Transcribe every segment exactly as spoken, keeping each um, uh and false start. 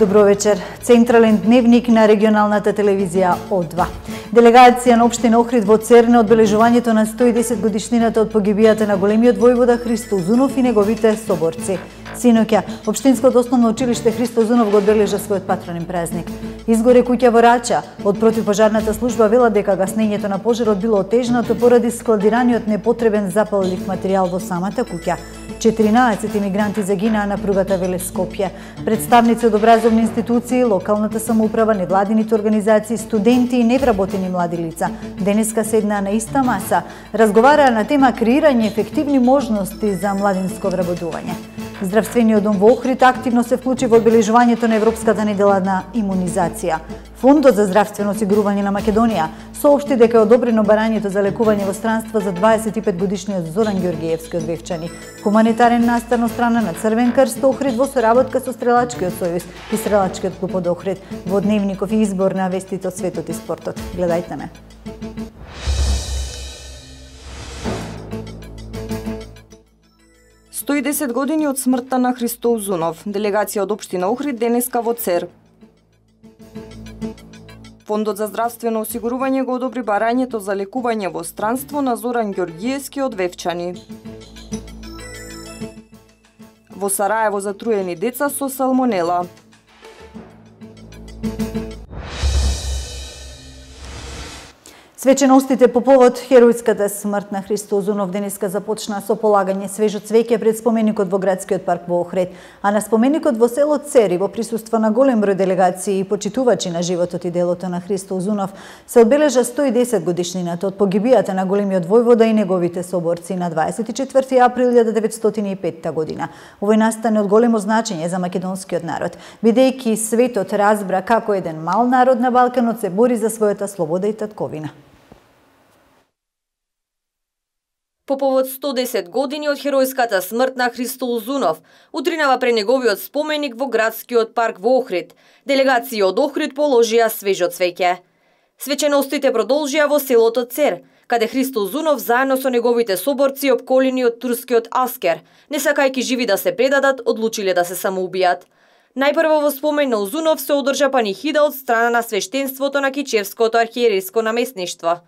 Добро вечер. Централен дневник на регионалната телевизија О два. Делегација на општина Охрид во Цер на одбележувањето на сто и десет годишнината од погибијата на големиот војвода Христо Узунов и неговите соборци. Синоќа, Општинското основно училиште Христо Узунов го одбележа својот патронен празник. Изгоре куќа во Рача. Од противпожарната служба вела дека гаснењето на пожарот било отежнато поради складираниот непотребен запаллив материјал во самата куќа. четиринаесет имигранти загинаа на пругата Велес-Скопје. Представници од образовни институции, локалната самоуправа, невладините организации, студенти и невработени млади лица денеска седнаа на иста маса, разговараа на тема креирање ефективни можности за младинско вработување. Здравствениот дом во Охрид активно се вклучи во одбележувањето на Европската недела на имунизација. Фондот за здравствено осигурување на Македонија соопшти дека е одобрено барањето за лекување во странство за дваесет и пет годишниот Зоран Ѓоргиевски од Вевчани. Хуманитарен настан од страна на Црвен крст Охрид во соработка со Стрелачкиот сојуз и Стрелачкиот клуб од Охрид. Во дневников и избор на вестите од светот и спортот. Гледајте ме. сто и десет години од смртта на Христо Узунов. Делегација од општина Охрид денеска во Цер. Фондот за здравствено осигурување го одобри барањето за лекување во странство на Зоран Ѓоргиевски од Вевчани. Во Сараево затруени деца со салмонела. Свеченостите по повод херојската смрт на Христо Узунов денеска започна со полагање свежо цвеќе пред споменикот во градскиот парк во Охрид, а на споменикот во село Цер во присуство на голем број делегации и почитувачи на животот и делото на Христо Узунов се одбележа сто и десет годишнината од погибијата на големиот војвода и неговите соборци на дваесет и четврти април илјада деветстотини и петта година. Овој настан е од големо значење за македонскиот народ, бидејќи светот разбра како еден мал народ на Балканот се бори за својата слобода и татковина. По повод сто и десет години од херојската смрт на Христо Узунов, утринава пред неговиот споменик во градскиот парк во Охрид, делегација од Охрид положија свежо цвеќе. Свеченостите продолжија во селото Цер, каде Христо Узунов заедно со неговите соборци опколени од турскиот аскер, не сакајќи живи да се предадат, одлучиле да се самоубијат. Најпрво во спомен на Узунов се одржа панихида од страна на свештенството на Кичевското архиерейско наместништво.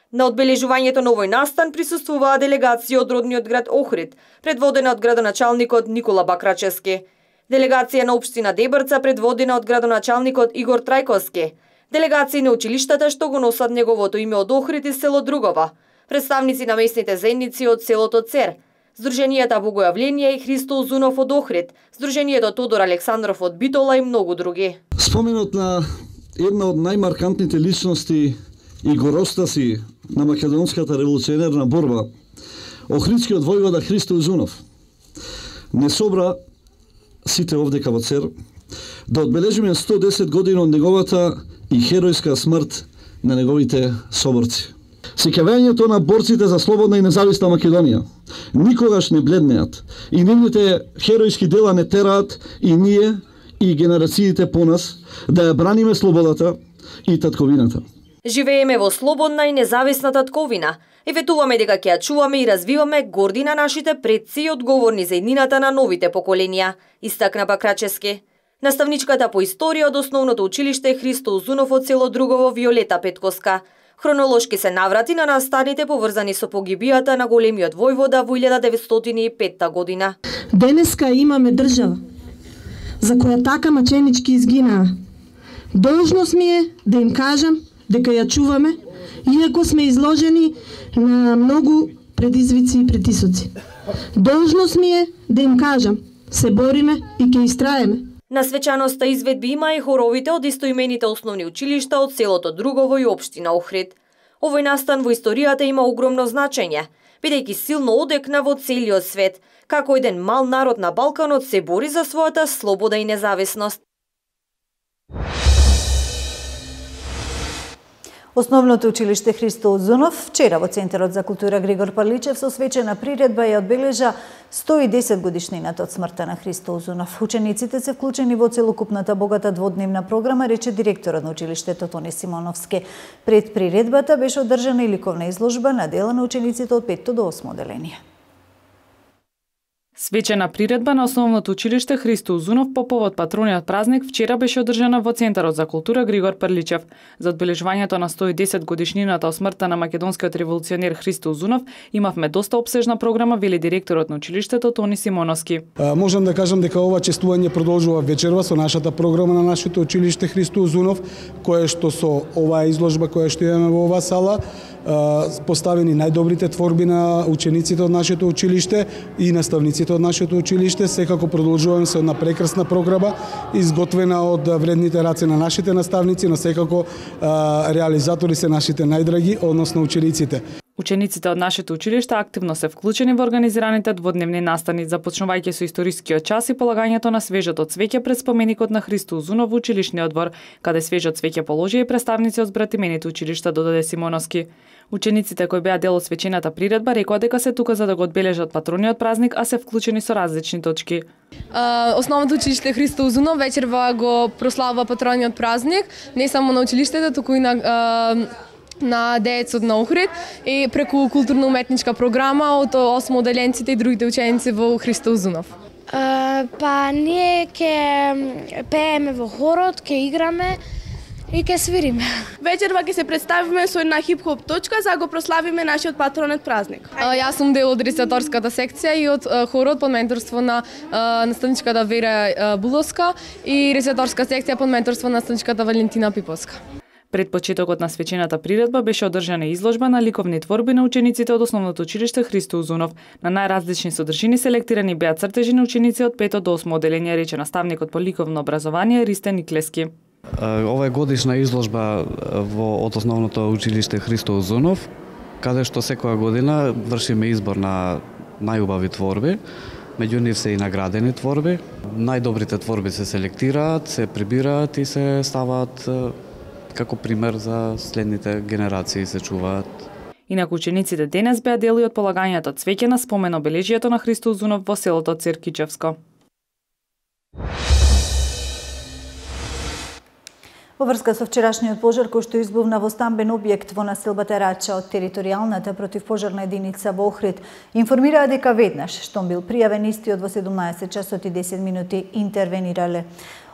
На одбележувањето на овој настан присуствуваа делегација од родниот град Охрид, предводена од градоначалникот Никола Бакрачевски. Делегација на општина Дебрца, предводена од градоначалникот Игор Трајковски. Делегации на училиштата што го носат неговото име од Охрид и село Другова. Представници на местните заедници од селото Цер. Сдруженијата Богојавление и Христо Узунов од Охрид, Сдруженијето Тодор Александров од Битола и многу други. Споменот на една од најмаркантните личности и гороста си на македонската револуционерна борба, охридскиот војвода Христо Узунов, не собра сите овдека во Цер да одбележиме сто и десет години од неговата и херојска смрт на неговите соборци. Сеќавањето на борците за слободна и независна Македонија никогаш не бледнеат и нивните херојски дела не тераат и ние и генерациите по нас да ја браниме слободата и татковината. Живееме во слободна и независна татковина и ветуваме дека ќе ја чуваме и развиваме горди на нашите предци и одговорни за иднината на новите поколенија, истакна Бакрачевски. Наставничката по историја од основното училиште Христо Узунов од село Другово Виолета Петкоска хронолошки се наврати на настаните поврзани со погибијата на големиот војвода во илјада деветстотини и петта година. Денеска имаме држава за која така маченички изгинаа. Должност ми е да им кажам дека ја чуваме, иако сме изложени на многу предизвици и притисоци. Должност ми е да им кажам, се бориме и ќе истраеме. На свечаноста изведби има и хоровите од истоимените основни училишта од селото Другово и општина Охрид. Овој настан во историјата има огромно значење, бидејќи силно одекна во целиот свет, како еден мал народ на Балканот се бори за својата слобода и независност. Основното училиште Христо Узунов вчера во Центарот за култура Григор Парличев со свечена приредба ја одбележа сто и десет годишнината од смртта на Христо Узунов. Учениците се вклучени во целокупната богата дводневна програма, рече директорот на училиштето Тони Симоновски. Пред приредбата беше одржана и ликовна изложба на дела на учениците од петто до осмо оделение. Свечена приредба на Основното училиште Христо Узунов по повод патрониот празник вчера беше одржана во Центарот за култура Григор Прличев. За одбележувањето на сто и десет годишнината од смртта на македонскиот револуционер Христо Узунов имавме доста опсежна програма, вели директорот на училиштето Тони Симоновски. А, можам да кажам дека ова честување продолжува вечерва со нашата програма на нашето училиште Христо Узунов, кое што со оваа изложба која што имаме во оваа сала поставени најдобрите творби на учениците од нашето училиште и наставниците од нашето училиште. Секако продолжуваме со една прекрасна програма изготвена од вредните раце на нашите наставници, но секако реализатори се нашите најдраги, односно учениците. Учениците од нашето училиште активно се вклучени во организираните дводневни настани, започнувајќи со историскиот час и полагањето на свежото цвеќе пред споменикот на Христо Узунов во училишниот двор, каде свежо цвеќе положија и представници од збратимените училишта, додаде Симоновски. Учениците кои беа дел од свечената приредба рекоа дека се тука за да го одбележат патрониот празник, а се вклучени со различни точки. Основното училиште Христо Узунов вечерва го прославува патрониот празник, не само на училиштето, туку и на на деецот на Охрид и преку културно-уметничка програма од осмо оделенците и другите ученици во Христо Узунов. Uh, па ние ќе пееме во хорот, ќе играме и ќе свириме. Вечерва ќе се представиме со една хип-хоп точка за да го прославиме нашиот патронет празник. Uh, јас сум дел од рецитаторската секција и од uh, хорот под менторство на uh, наставничката Вера uh, Буловска и рецитаторска секција под менторство на наставничката Валентина Пиповска. Пред почетокот на свечената приредба беше одржана изложба на ликовни творби на учениците од Основното училиште Христо Узунов. На најразлични содржини селектирани беа цртежи на ученици од пето до осмо оделение, рече наставникот по ликовно образование Ристен Никлески. Ова е годишна изложба во од Основното училиште Христо Узунов, каде што секоја година вршиме избор на најубави творби. Меѓу нив се и наградени творби. Најдобрите творби се селектираат, се прибираат и се ставаат како пример за следните генерации се чуваат. Инаку учениците денес беа дел од полагањето цвеќе на спомен обележието на Христо Узунов во селото Циркичевско. Во врска со вчерашниот пожар кој што избувна во стамбен објект во населбата Рача од територијалната противпожарна единица во Охрид, информираа дека веднаш штом бил пријавен истиот во седумнаесет часот и десет минути интервенирале.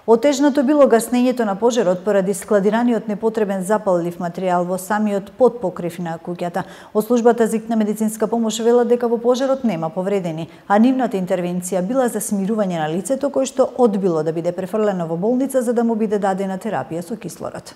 Отежнато било гаснењето на пожарот поради складираниот непотребен запаллив материјал во самиот подпокрив на куќата. Од службата за итна медицинска помош велат дека во пожарот нема повредени, а нивната интервенција била за смирување на лицето кој што одбило да биде префрлено во болница за да му биде дадена терапија со кислород.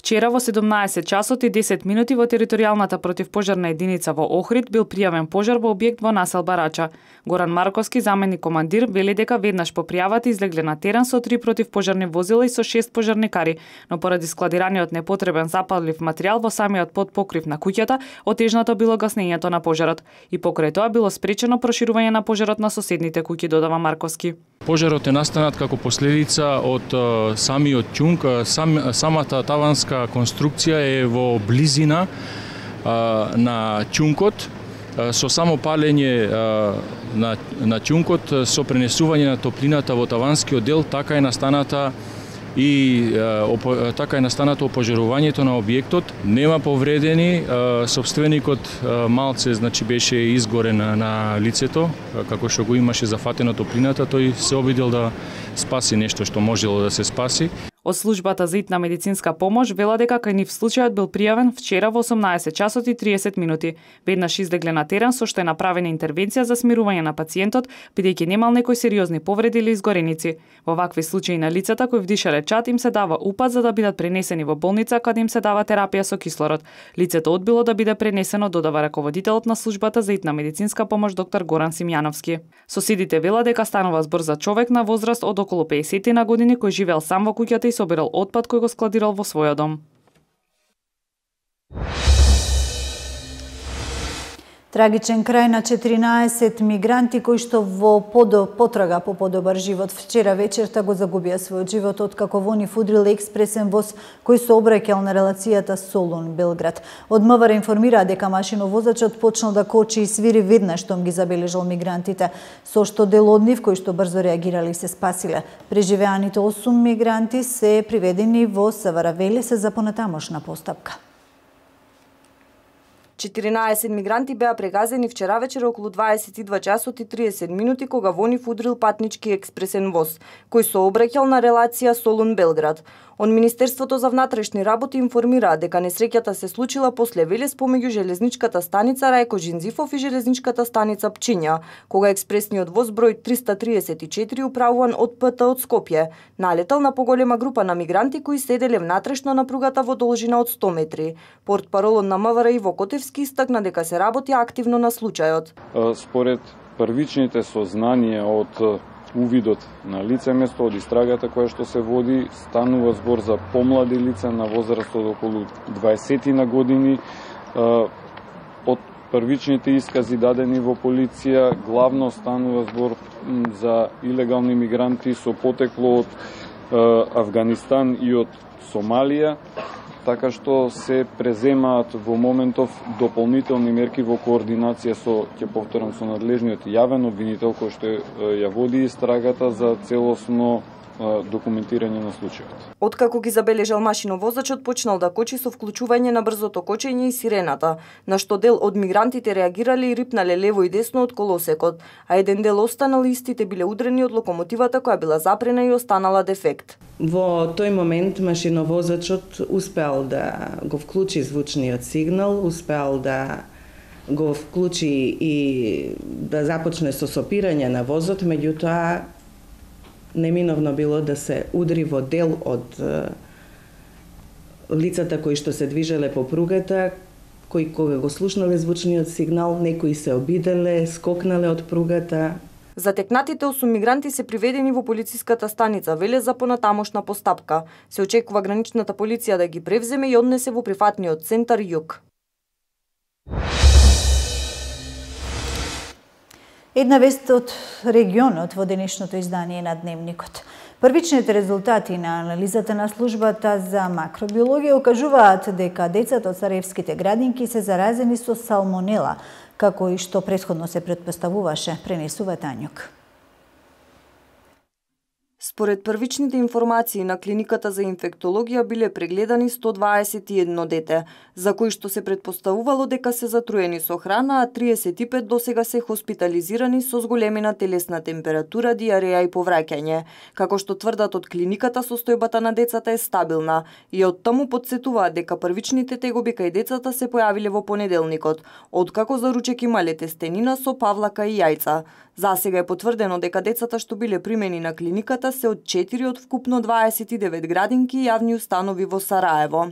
Вчера во седумнаесет часот и десет минути во територијалната противпожарна единица во Охрид бил пријавен пожар во објект во населба Рача. Горан Марковски, заменик командир, вели дека веднаш по пријавата излегле на терен со три противпожарни возила и со шест пожарникари, но поради складираниот непотребен запаллив материјал во самиот подпокрив на куќата, отежнато било гаснењето на пожарот. И покрај тоа било спречено проширување на пожарот на соседните куќи, додава Марковски. Пожарот е настанат како последица од uh, самиот ќунг, сам, самата таванска конструкција е во близина uh, на ќункот, uh, со само палење uh, на, на ќункот, со пренесување на топлината во таванскиот дел, така е настаната и uh, така е настанато опожарувањето на објектот. Нема повредени, uh, собственикот uh, малце значи беше изгорен на, на лицето, uh, како што го имаше зафатено топлината, тој се обидел да спаси нешто што можело да се спаси. Од службата за итна медицинска помош вела дека кај нив случајот бил пријавен вчера во осумнаесет часот и триесет минути. Веднаш излегле на терен со што е направена интервенција за смирување на пациентот, бидејќи немал некои сериозни повреди или изгореници. Во вакви случаи на лицата кои вдишале чад им се дава упат за да бидат пренесени во болница каде им се дава терапија со кислород. Лицето одбило да биде пренесено, додава раководителот на службата за итна медицинска помош доктор Горан Симјановски. Соседите вела дека станува збор за човек на возраст од околу пеесет на години кој живеел сам во куќата и собирал отпад кој го складирал во својот дом. Трагичен крај на четиринаесет мигранти кои што во подо потрага по подобар живот вчера вечерта го загубија својот живот откако во нив удрил експресен воз кој се обраќал на релацијата Солун-Белград. Од МВР информираа дека машиновозачот почнал да кочи и свири веднаш штом ги забележал мигрантите, со што дел од нив кои што брзо реагирали се спасиле. Преживеаните осум мигранти се приведени во СВР, вели се за понатамошна постапка. четиринаесет мигранти беа прегазени вчера вечер околу дваесет и два часот и триесет минути кога во нив удрил патнички експресен воз, кој сообраќал на релација Солун-Белград. Од Министерството за внатрешни работи информираа дека несреќата се случила после велес помеѓу железничката станица Рајко Джинзифов и железничката станица Пчиња, кога експресниот воз број триста триесет и четири управуван од ПТ од Скопје налетал на поголема група на мигранти кои седеле внатрешно на пругата во должина од сто метри. Портпаролот на МВР Иво Котевски истакна дека се работи активно на случајот. Според првичните сознанија од увидот на лице место од истрагата која што се води, станува збор за помлади лица на возраст од околу дваесет на години. Од првичните искази дадени во полиција, главно станува збор за илегални мигранти со потекло од Авганистан и од Сомалија, така што се преземаат во моментов дополнителни мерки во координација со, ќе повторам, со надлежниот јавен обвинител кој што ја води истрагата за целосно документирање на случајот. Откако ги забележал машиновозачот, почнал да кочи со вклучување на брзото кочење и сирената, на што дел од мигрантите реагирале и рипнале лево и десно од колосекот, а еден дел останал и истите биле удрени од локомотивата која била запрена и останала дефект. Во тој момент машиновозачот успеал да го вклучи звучниот сигнал, успеал да го вклучи и да започне со сопирање на возот, меѓутоа неминовно било да се удри во дел од лицата кои што се движеле по пругата, кои кога го слушнале звучниот сигнал, некои се обиделе, скокнале од пругата. Затекнатите осум мигранти се приведени во полициската станица Велес за понатамошна постапка. Се очекува граничната полиција да ги превземе и однесе во прифатниот центар Југ. Една вест од регионот во денешното издание на Дневникот. Првичните резултати на анализата на службата за макробиологија окажуваат дека децата од сараевските градинки се заразени со салмонела, како и што претходно се претпоставуваше, пренесува Тањук. Според првичните информации на клиниката за инфектологија биле прегледани сто дваесет и едно дете, за кои што се претпоставувало дека се затруени со храна, а триесет и пет досега се хоспитализирани со зголемена телесна температура, диареја и повраќање. Како што тврдат од клиниката, состојбата на децата е стабилна и од таму потсетуваат дека првичните тегоби кај децата се појавиле во понеделникот, откако за ручек имале тестенина со павлака и јајца. Засега е потврдено дека децата што биле примени на клиниката се од четири од вкупно дваесет и девет градинки и јавни установи во Сараево.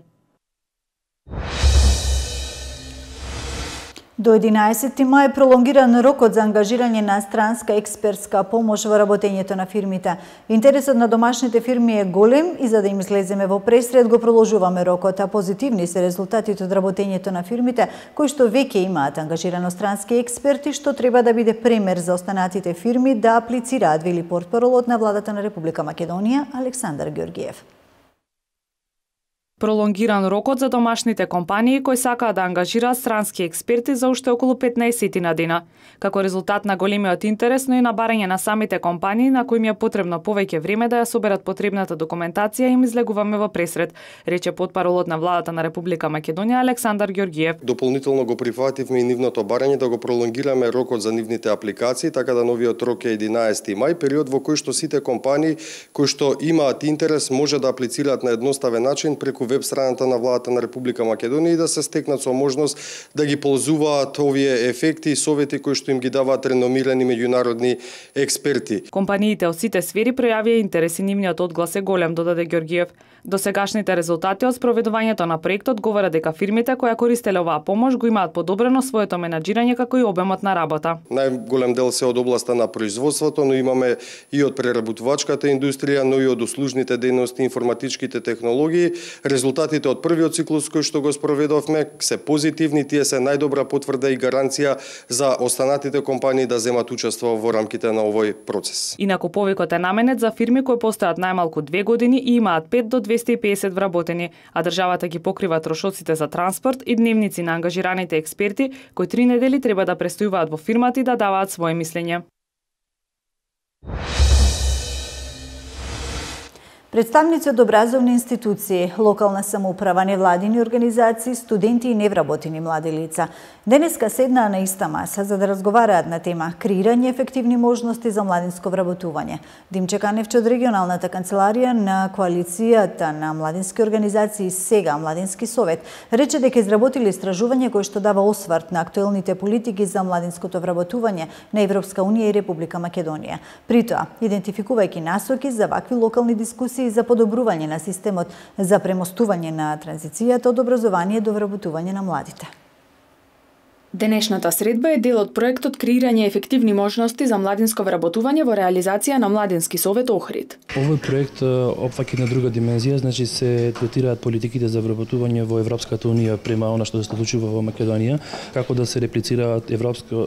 До единаесети мај е пролонгиран рокот за ангажирање на странска експертска помош во работењето на фирмите. Интересот на домашните фирми е голем и за да им излеземе во пресред го проложуваме рокот, а позитивни се резултатите од работењето на фирмите кои што веќе имаат ангажирано странски експерти, што треба да биде пример за останатите фирми да аплицираат, вели портпаролот на владата на Република Македонија Александар Ѓоргиев. Пролонгиран рокот за домашните компании кои сакаат да ангажираат странски експерти за уште околу петнаесет на дена. Како резултат на големиот интерес, но и на барање на самите компании на кои им е потребно повеќе време да ја соберат потребната документација, им излегуваме во пресред, рече потпаролот на владата на Република Македонија Александар Ѓоргиев. Дополнително го прифативме и нивното барање да го пролонгираме рокот за нивните апликации, така да новиот рок е единаесети мај, период во кој што сите компании кои што имаат интерес може да аплицираат на едноставен начин преку веб страната на владата на Република Македонија и да се стекнат со можност да ги ползуваат овие ефекти и совети кои што им ги даваат реномирани меѓународни експерти. Компаниите од сите сфери пројавија интерес и нивниот одглас е голем, додаде Ѓоргиев. Досегашните резултати од спроведувањето на проектот говорат дека фирмите кои користеле оваа помош го имаат подобрено своето менаџирање како и обемот на работа. Најголем дел се од областа на производството, но имаме и од преработувачката индустрија, но и од услужните дејности, информатичките технологии. Резултатите од првиот циклус кој што го спроведовме се позитивни, тие се најдобра потврда и гаранција за останатите компании да земат учество во рамките на овој процес. Инаку повикот е наменет за фирми кои постојат најмалку две години и имаат пет до двесте и педесет вработени, а државата ги покрива трошоците за транспорт и дневници на ангажираните експерти кои три недели треба да престојуваат во фирмата и да даваат свое мислење. Представници од образовни институции, локална самоуправа, невладини организации, студенти и невработени млади лица денеска седнаа на иста маса за да разговараат на тема креирање ефективни можности за младинско вработување. Димче Каневче од регионалната канцеларија на коалицијата на младински организации Сега Младински совет рече дека изработили истражување кое што дава осврт на актуелните политики за младинското вработување на Европска унија и Република Македонија. При тоа, идентификувајќи насоки за вакви локални дискусии за подобрување на системот за премостување на транзицијата од образование до вработување на младите. Денешната средба е дел од проектот Креирање ефективни можности за младинско вработување во реализација на Младински совет Охрид. Овој проект опфаќа една друга димензија, значи се третираат политиките за вработување во Европската унија према она што се случува во Македонија, како да се реплицираат европско,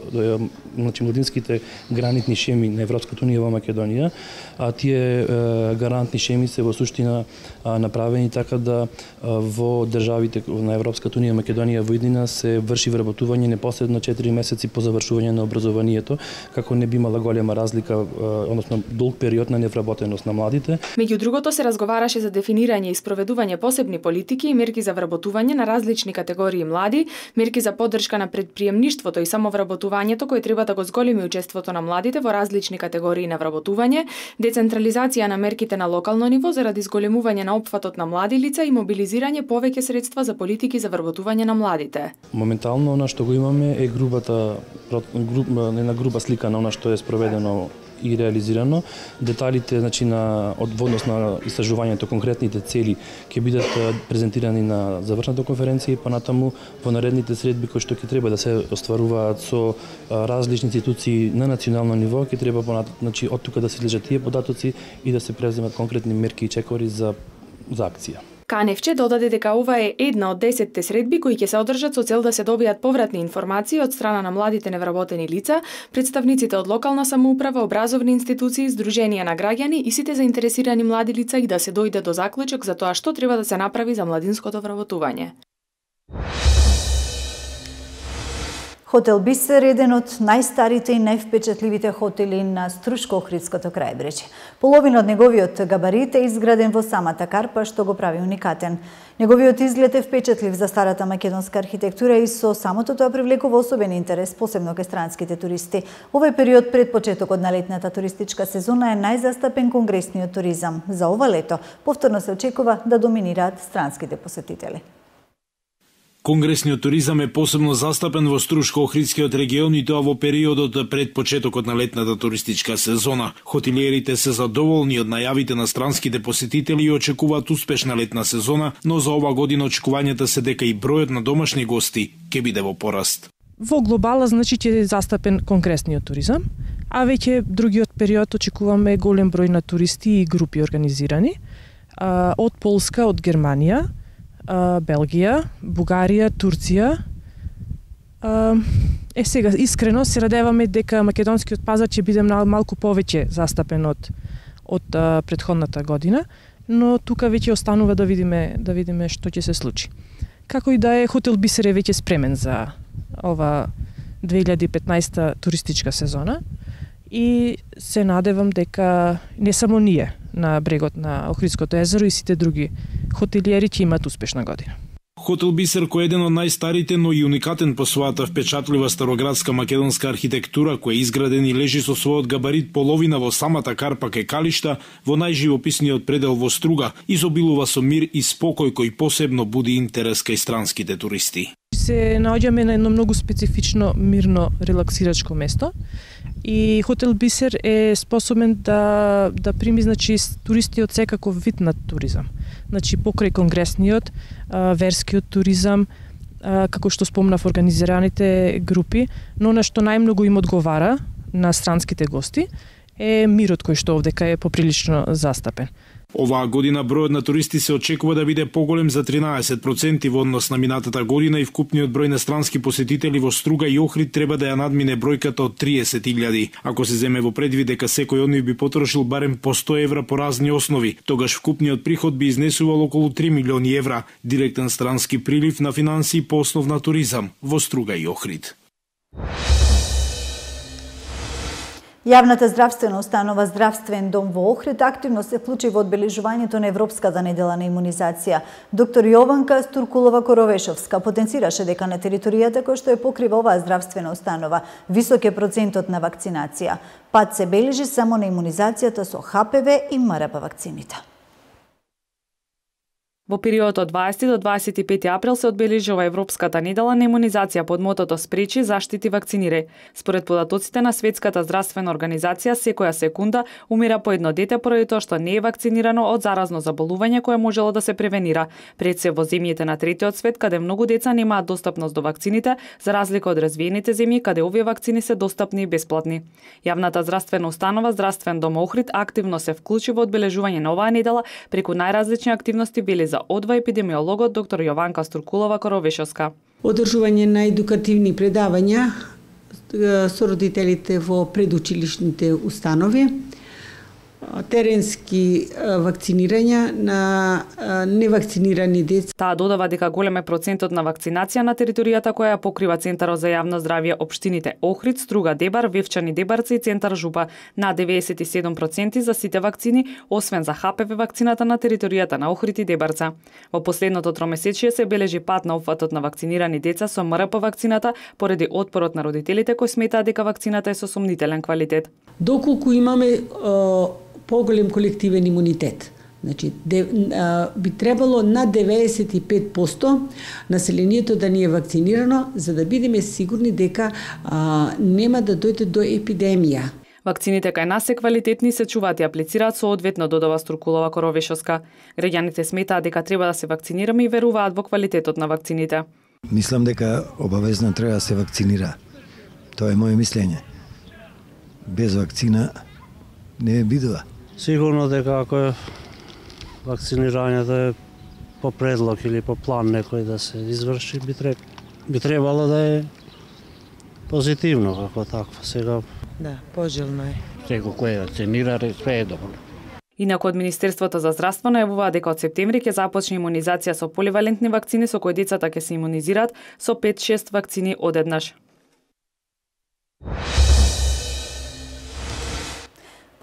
значи младинските гранитни шеми на Европската унија во Македонија, а тие гарантни шеми се во суштина направени така да во државите на Европската унија Македонија во иднина се врши вработување непосредно четири месеци по завршување на образованието, како не би имала голема разлика, односно долг период на невработеност на младите. Меѓу другото се разговараше за дефинирање и спроведување посебни политики и мерки за вработување на различни категории млади, мерки за поддршка на предприемништвото и самовработувањето кој треба да го зголеми учеството на младите во различни категории на вработување, децентрализација на мерките на локално ниво заради зголемување на опфатот на млади лица и мобилизирање повеќе средства за политики за вработување на младите. Моментално она што го имаме е грубата груб, една груба слика на она што е спроведено и реализирано. Деталите, значи на од однос на истражувањето, конкретните цели ќе бидат презентирани на завршната конференција и понатаму во наредните средби кои што ќе треба да се остваруваат со различни институции на национално ниво, ќе треба понатаму, значи од тука да се излежат тие податоци и да се преземат конкретни мерки и чекори за за акција. Каневче додаде дека ова е една од десетте средби кои ќе се одржат со цел да се добијат повратни информации од страна на младите невработени лица, представниците од локална самоуправа, образовни институции, здруженија на граѓани и сите заинтересирани млади лица и да се дојде до заклучок за тоа што треба да се направи за младинското вработување. Хотел Бисер е еден од најстарите и највпечатливите хотели на Струшко-Охридското крајбрежје. Половина од неговиот габарит е изграден во самата Карпа, што го прави уникатен. Неговиот изглед е впечатлив за старата македонска архитектура и со самото тоа привлекува особен интерес, посебно кај странските туристи. Овој период пред почетокот на летната туристичка сезона е најзастапен конгресниот туризам. За ова лето повторно се очекува да доминираат странските посетители. Конгресниот туризам е посебно застапен во Струшко-Охридскиот регион и тоа во периодот пред почетокот на летната туристичка сезона. Хотелиерите се задоволни од најавите на странските посетители и очекуваат успешна летна сезона, но за ова година очекувањата се дека и бројот на домашни гости ќе биде во пораст. Во глобала значи ќе е застапен конгресниот туризам, а веќе другиот период очекуваме голем број на туристи и групи организирани од Полска, од Германија, Белгија, Бугарија, Турција. Е сега, искрено се радеваме дека македонскиот пазар ќе биде малку повеќе застапен од, од предходната година, но тука веќе останува да видиме, да видиме што ќе се случи. Како и да е, Хотел Бисер е веќе спремен за ова две илјади и петнаесета туристичка сезона и се надевам дека не само ние на брегот на Охридското езеро и сите други хотелиери ќе имаат успешна година. Хотел Бисер, кој е еден од најстарите, но и уникатен по својата впечатлива староградска македонска архитектура, кој е изграден и лежи со својот габарит половина во самата Карпа кај Калишта, во најживописниот предел во Струга, изобилува со мир и спокој кој посебно буди интерес кај странските туристи. Се наоѓаме на едно многу специфично, мирно, релаксирачко место и Хотел Бисер е способен да да прими значи туристи од секаков вид на туризам. Значи покрај конгресниот, верскиот туризам, како што спомнав организираните групи, но на што најмногу им одговара на странските гости е мирот кој што овдека е поприлично застапен. Оваа година бројот на туристи се очекува да биде поголем за тринаесет проценти во однос на минатата година и вкупниот број на странски посетители во Струга и Охрид треба да ја надмине бројката од триесет илјади. Ако се земе во предвид дека секој од нив би потрошил барем по сто евра по разни основи, тогаш вкупниот приход би изнесувал околу три милиони евра, директен странски прилив на финансии по основ на туризам во Струга и Охрид. Јавната здравствена установа Здравствен дом во Охрид активно се вклучи во одбележувањето на Европската недела на имунизација. Доктор Јованка Стуркулова-Коровешовска потенцираше дека на територијата која што ја покрива оваа здравствена установа висок е процентот на вакцинација. Пат се бележи само на имунизацијата со Х П В и М Р П вакцините. Во периодот од дваесети до дваесет и пети април се одбележува Европската недела на имунизација под мотото Спречи, заштити, вакцинирај. Според податоците на Светската здравствена организација, секоја секунда умира по едно дете поради тоа што не е вакцинирано од заразно заболување кое можело да се превенира. Пред се во земјите на третиот свет, каде многу деца немаат достапност до вакцините, за разлика од развиените земји каде овие вакцини се достапни и бесплатни. Јавната здравствена установа Здравствен дом Охрид активно се вклучи во одбележување на оваа недела преку најразлични активности били за одва епидемиологот доктор Јованка Стуркулова-Коровешовска. Одржување на едукативни предавања со родителите во предучилишните установи, теренски вакцинирања на невакцинирани деца. Таа додава дека голем е процентот на вакцинација на територијата која ја покрива Центарот за јавно здравје општините Охрид, Струга, Дебар, Вевчани, Дебарци и Центар Жупа, на деветдесет и седум проценти за сите вакцини, освен за Х П В вакцината на територијата на Охрид и Дебарца. Во последното тромесечие се бележи пат на опфатот на вакцинирани деца со М Р П вакцината поради отпорот на родителите кои сметаат дека вакцината е со сомнителен квалитет. Доколку имаме поголем колективен имунитет. Значи, де, а, би требало на деветдесет и пет проценти населението да ни е вакцинирано, за да бидеме сигурни дека а, нема да дојде до епидемија. Вакцините кај нас се квалитетни, се чуваат и аплицираат соодветно, додава Стуркулова-Коровешовска. Граѓаните сметаат дека треба да се вакцинираме и веруваат во квалитетот на вакцините. Мислам дека обавезно треба да се вакцинира. Тоа е моје мислење. Без вакцина не е бидува. Сигурно дека ако е вакцинирањето е по предлог или по план некој да се изврши, би, треб... би требало да е позитивно како такво. Сега да, пожелно е. Секој кој е вакцинира, све е добро. Инаку од Министерството за здравство најавува дека од септември ќе започне имунизација со поливалентни вакцини со кои децата ќе се имунизираат со пет-шест вакцини одеднаш.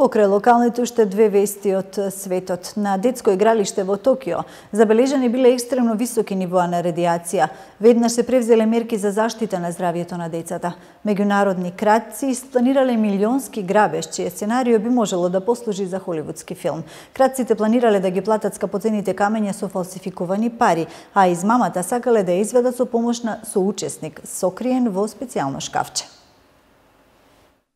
Покрај локалните уште две вести од светот. На детско игралиште во Токио забележани биле екстремно високи нивоа на радиација. Веднаш се превзеле мерки за заштита на здравјето на децата. Меѓународни кратци планирале милионски грабеж, чие сценарио би можело да послужи за холивудски филм. Кратците планирале да ги платат скапоцените камења со фалсификувани пари, а измамата сакале да ја изведат со помош на соучесник, сокриен во специјално шкафче.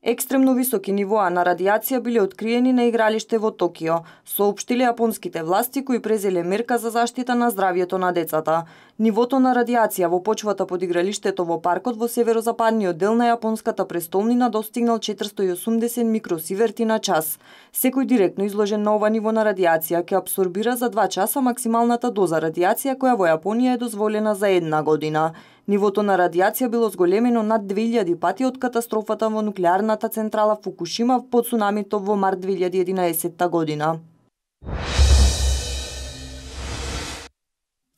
Екстремно високи нивоа на радиација биле откриени на игралиште во Токио, соопштиле јапонските власти кои презеле мерка за заштита на здравјето на децата. Нивото на радиација во почвата под игралиштето во паркот во северозападниот дел на јапонската престолнина достигнал четиристо и осумдесет микросиверти на час. Секој директно изложен на ова ниво на радиација ќе абсорбира за два часа максималната доза радиација која во Јапонија е дозволена за една година. Нивото на радиација било зголемено над две илјади пати од катастрофата во нуклеарната централа Фукушима по цунамито во март две илјади и единаесетта година.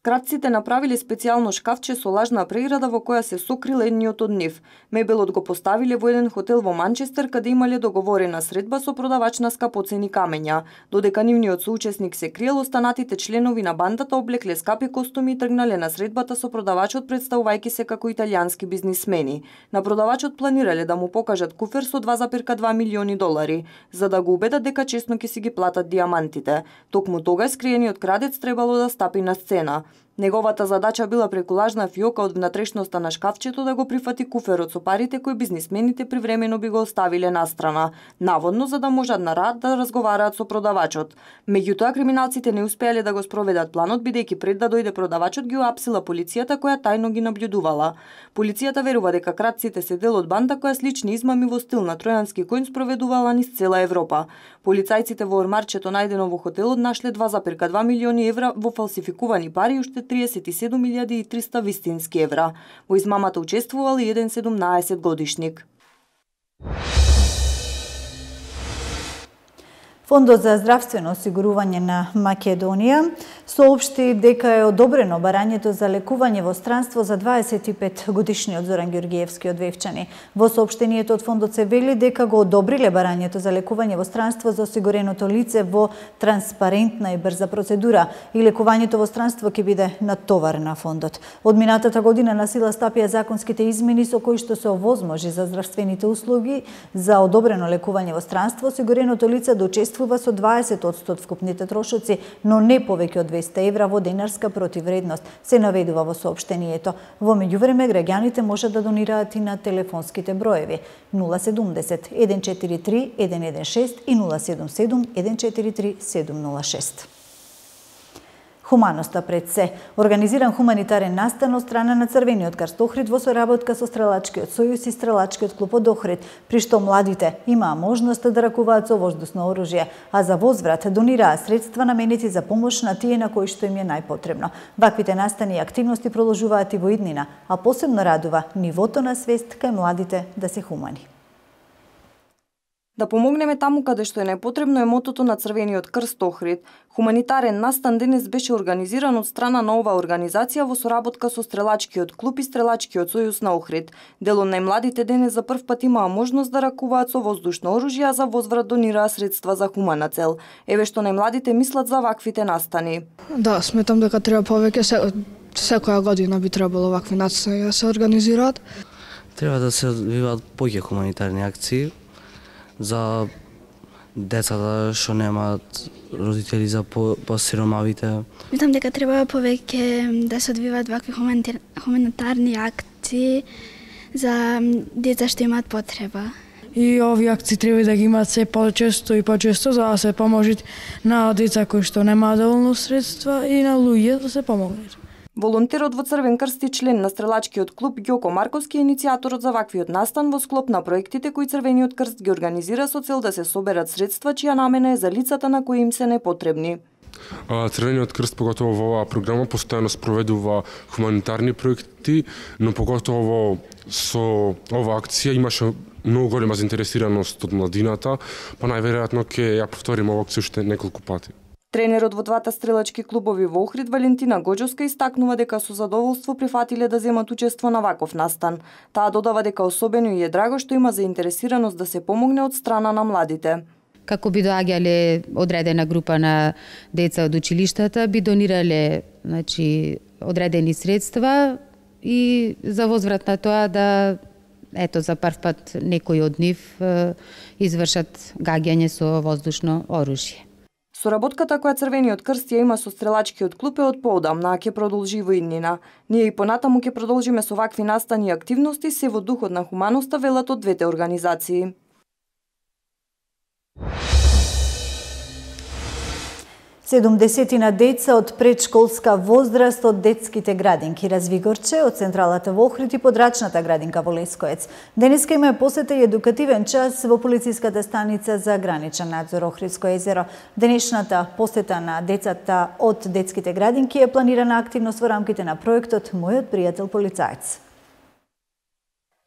Кратците направиле специјално шкафче со лажна преграда во која се сокрил едниот од нив. Мебелот го поставиле во еден хотел во Манчестер каде имале договорена средба со продавач на скапоцени камења. Додека нивниот соучесник се криел, останатите членови на бандата облекле скапи костуми и тргнале на средбата со продавачот представувајќи се како италијански бизнисмени. На продавачот планирале да му покажат куфер со два зарез два милиони долари, за да го убедат дека честно ќе си ги платат диамантите. Токму тогаш скриениот крадец требало да стапи на сцена. Неговата задача била преку лажна фиока од внатрешноста на шкафчето да го прифати куферот со парите кои бизнисмените привремено би го оставиле настрана, наводно за да можат на рад да разговараат со продавачот. Меѓутоа, криминалците не успеале да го спроведат планот, бидејќи пред да дојде продавачот ги уапсила полицијата која тајно ги наблюдувала. Полицијата верува дека кратците се дел од банда која слични измами во стил на тројански коњ спроведувала низ цела Европа. Полицајците во ормарчето најдено во хотелот нашле два зарез два милиони евра во фалсификувани пари и уште триесет и седум илјади и триста вистински евра. Во измамата учествувал и еден седумнаесет годишник. Фондот за здравствено осигурување на Македонија соопшти дека е одобрено барањето за лекување во странство за дваесет и пет годишниот Зоран Ѓоргиевски од Вевчани. Во соопштението од фондот се вели дека го одобриле барањето за лекување во странство за осигуреното лице во транспарентна и брза процедура и лекувањето во странство ќе биде натовар на фондот. Од минатата година на сила стапија законските измени со кои што се овозможи за здравствените услуги за одобрено лекување во странство осигуреното лице да учествува со дваесет одсто од вкупните трошоци, но не повеќе од двесте евра во денарска противредност, се наведува во соопштението. Во меѓувреме, граѓаните може да донираат и на телефонските броеви нула седумдесет еден четири три еден еден шест и нула седум седум еден четири три седум нула шест. Хуманоста пред се. Организиран хуманитарен настан од страна на Црвениот крст Охрид во соработка со Стрелачкиот сојуз и Стрелачкиот клуб од Охрид, при што младите имаа можност да ракуваат со воздушно оружје, а за возврат донираа средства наменети за помош на тие на кои што им е најпотребно. Ваквите настани и активности продолжуваат и во иднина, а посебно радува нивото на свест кај младите да се хумани. Да помогнеме таму каде што е најпотребно е мотото на Црвениот крст Охрид. Хуманитарен настан денес беше организиран од страна на оваа организација во соработка со Стрелачкиот клуб и Стрелачкиот сојуз на Охрид. Дел од најмладите денес за прв пат имаа можност да ракуваат со воздушно оружје, а за возврат донираа средства за хумана цел. Еве што најмладите мислат за ваквите настани. Да, сметам дека треба повеќе, се, секоја година би требало вакви настани да се организираат. Треба да се одвиваат повеќе хуманитарни акции за децата што немаат родители, за посиромавите. Мислам дека треба повеќе да се одвиваат вакви хуманитарни акции за деца што имаат потреба. И овие акции треба да ги имаат се почесто и почесто за да се поможи на деца кои што немаат доволно средства и на луѓе да се помогнат. Волонтерот во Црвен крст и член на Стрелачкиот клуб Ѓоко Марковски е иницијаторот за ваквиот настан во склоп на проектите кои Црвениот крст ги организира со цел да се соберат средства чија намена е за лицата на кои им се непотребни. Црвениот крст, поготово во оваа програма, постојано спроведува хуманитарни проекти, но поготово со оваа акција имаше многу голема заинтересираност од младината, па најверојатно ќе ја повториме оваа акција уште неколку пати. Тренерот во двата стрелачки клубови во Охрид, Валентина Гоџовска, истакнува дека со задоволство прифатиле да земат учество на ваков настан. Таа додава дека особено и е драго што има заинтересираност да се помогне од страна на младите. Како би доаѓале одредена група на деца од училиштата, би донирале, значи, одредени средства и за возврат на тоа да, ето, за прв пат некои од нив извршат гаѓање со воздушно оружје. Соработката која Црвениот крст ја има со Стрелачкиот клуб е од поодамна, а ќе продолжи во иднина. Ние и понатаму ќе продолжиме со вакви настани и активности се во духот на хуманоста, велат од двете организации. седумдесетина деца од предшколска возраст од детските градинки Развигорче, од централата во Охрид и подрачната градинка во Лескоец. Денеска има посета и едукативен час во полициската станица за граничен надзор Охридско езеро. Денешната посета на децата од детските градинки е планирана активност во рамките на проектот Мојот пријател полицаец.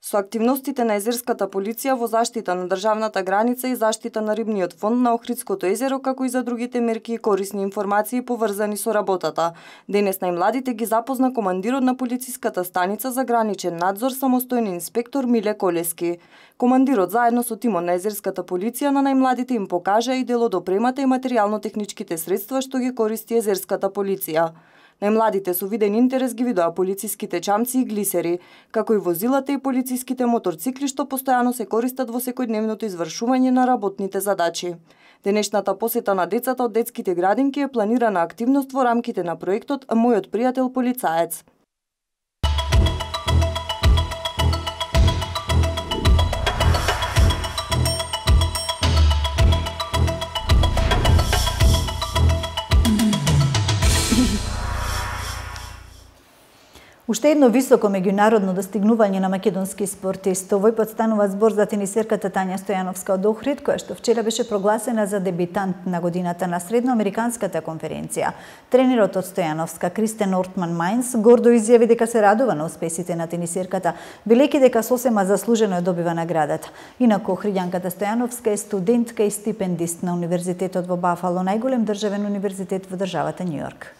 Со активностите на езерската полиција во заштита на државната граница и заштита на рибниот фонд на Охридското езеро, како и за другите мерки и корисни информации поврзани со работата. Денес најмладите ги запозна командирот на полициската станица за граничен надзор, самостојен инспектор Миле Колески. Командирот заедно со тимот на езерската полиција на најмладите им покажа и дел од опремата и материјално-техничките средства што ги користи езерската полиција. Најмладите со виден интерес ги видоа полициските чамци и глисери, како и возилата и полициските моторцикли што постојано се користат во секојдневното извршување на работните задачи. Денешната посета на децата од детските градинки е планирана активност во рамките на проектот Мојот пријател полицаец. Уште едно високо меѓународно достигнување на македонски спортист. Овој пат станува збор за тенисерката Тања Стојановска од Охрид, која што вчера беше прогласена за дебитант на годината на Средноамериканската конференција. Тренерот од Стојановска, Кристен Ортман Мајнс, гордо изјави дека се радува на успесите на тенисерката, велејќи дека сосема заслужено ја добива наградата. Инаку Охриѓанката Стојановска е студентка и стипендист на Универзитетот во Бафало, најголем државен универзитет во државата Њујорк.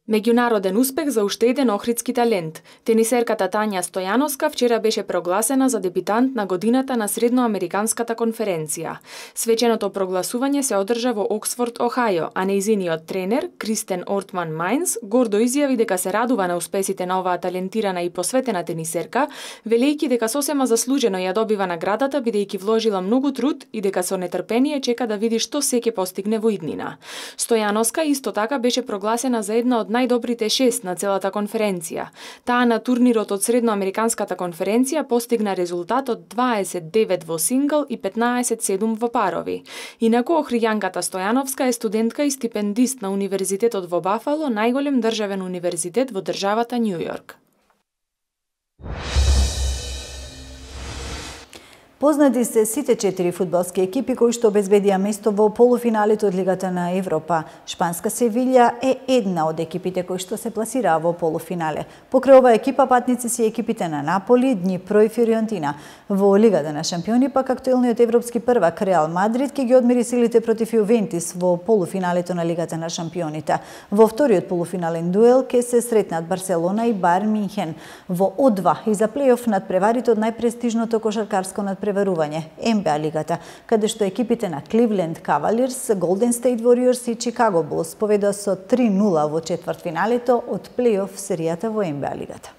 Меѓународен успех за уште еден охридски талент. Тенисерката Тања Стојановска вчера беше прогласена за дебитант на годината на Средноамериканската конференција. Свеченото прогласување се одржа во Оксфорд, Охајо, а нејзиниот тренер, Кристен Ортман Мајнс, гордо изјави дека се радува на успесите на оваа талентирана и посветена тенисерка, велејќи дека сосема заслужено ја добива наградата бидејќи вложила многу труд и дека со нетрпение чека да види што се ќе постигне во иднина. Стојановска исто така беше прогласена за една од најдобрите шест на целата конференција. Таа на турнирот од Средноамериканската конференција постигна резултат од дваесет девет во сингл и петнаесет седум во парови. Инаку Охриѓанката Стојановска е студентка и стипендист на Универзитетот во Бафало, најголем државен универзитет во државата Њујорк. Познати се сите четири фудбалски екипи кои што обезбедија место во полуфиналите од Лигата на Европа. Шпанска Севилја е една од екипите кои што се пласираа во полуфинале. Покрај оваа екипа патници се екипите на Наполи, Днипро и Фиорентина. Во Лигата на шампиони пак актуелниот европски првак Реал Мадрид ќе ги одмери силите против Јувентис во полуфиналето на Лигата на шампионите. Во вториот полуфинален дуел ќе се сретнат Барселона и Бајерн Минхен. Во О два и за плејоф надпреварите од најпрестижното кошаркарско надпреварување Ен Би А лигата, каде што екипите на Кливленд Кавалирс, Голден Стейт Вориорс и Чикаго Булс победоа со три нула во четвртфиналето од плејоф серијата во Ен Би А лигата.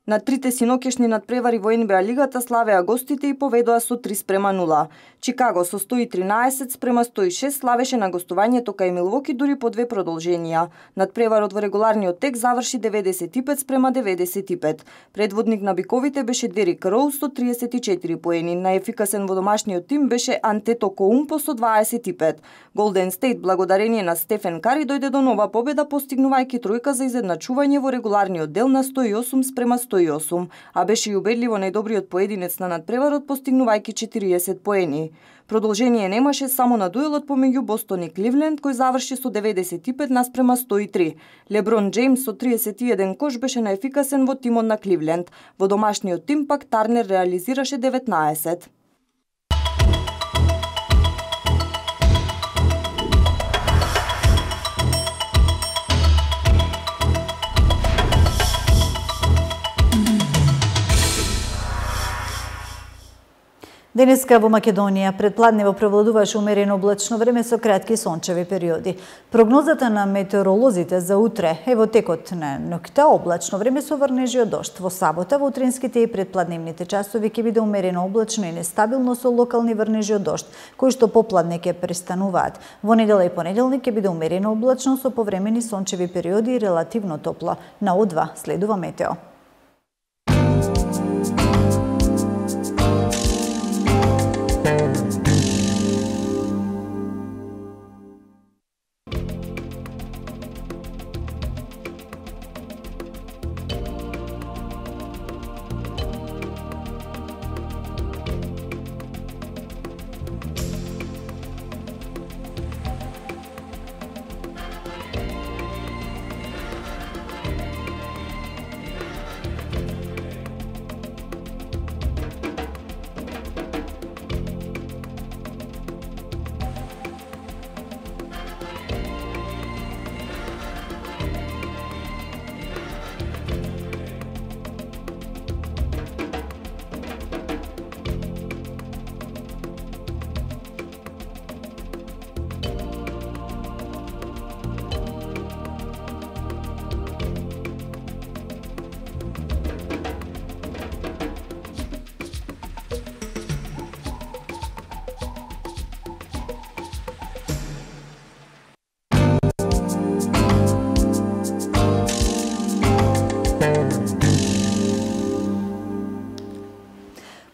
На трите синокешни надпревари во Ен Би А лигата славеа гостите и поведоа со три спрема нула. Чикаго со сто и тринаесет спрема сто и шест славеше на гостувањето кај Милвоки дури по две продолженија. Надпреварот во регуларниот тек заврши деветдесет и пет спрема деветдесет и пет. Предводник на биковите беше Дерик Роуз со триесет и четири поени. Најефикасен во домашниот тим беше Антето Коумпо со дваесет и пет. Голден Стейт благодарение на Стефен Кари дојде до нова победа постигнувајќи тројка за изедначување во регуларниот дел на сто и осум спрема сто и осум, а беше и убедливо најдобриот поединец на надпреварот постигнувајќи четириесет поени. Продолжение немаше само на дуелот помеѓу Бостон и Кливленд кој заврши со деветдесет и пет наспрема сто и три. Леброн Джеймс со триесет и еден кош беше најефикасен во тимот на Кливленд. Во домашниот тим пак Тарнер реализираше деветнаесет. Денеска во Македонија предпладнево превладуваше умерено облачно време со кратки сончеви периоди. Прогнозата на метеоролозите за утре е во текот на ноќта облачно време со врнежи од дожд. Во сабота во утринските и предпладневните часови ќе биде умерено облачно и нестабилно со локални врнежи од дожд, кои што попладне ќе престануваат. Во недела и понеделник ќе биде умерено облачно со повремени сончеви периоди и релативно топло. На О два следува метео.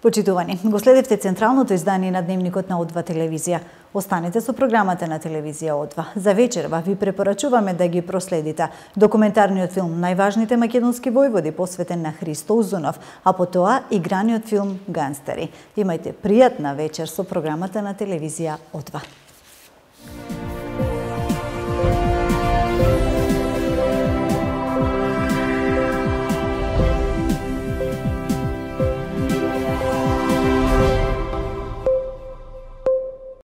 Почитувани, го следевте централното издание на Дневникот на О два телевизија. Останете со програмата на телевизија О два. За вечерва ви препорачуваме да ги проследите документарниот филм Најважните македонски војводи посветен на Христо Узунов, а потоа играниот филм Ганстери. Имајте пријатна вечер со програмата на телевизија О два.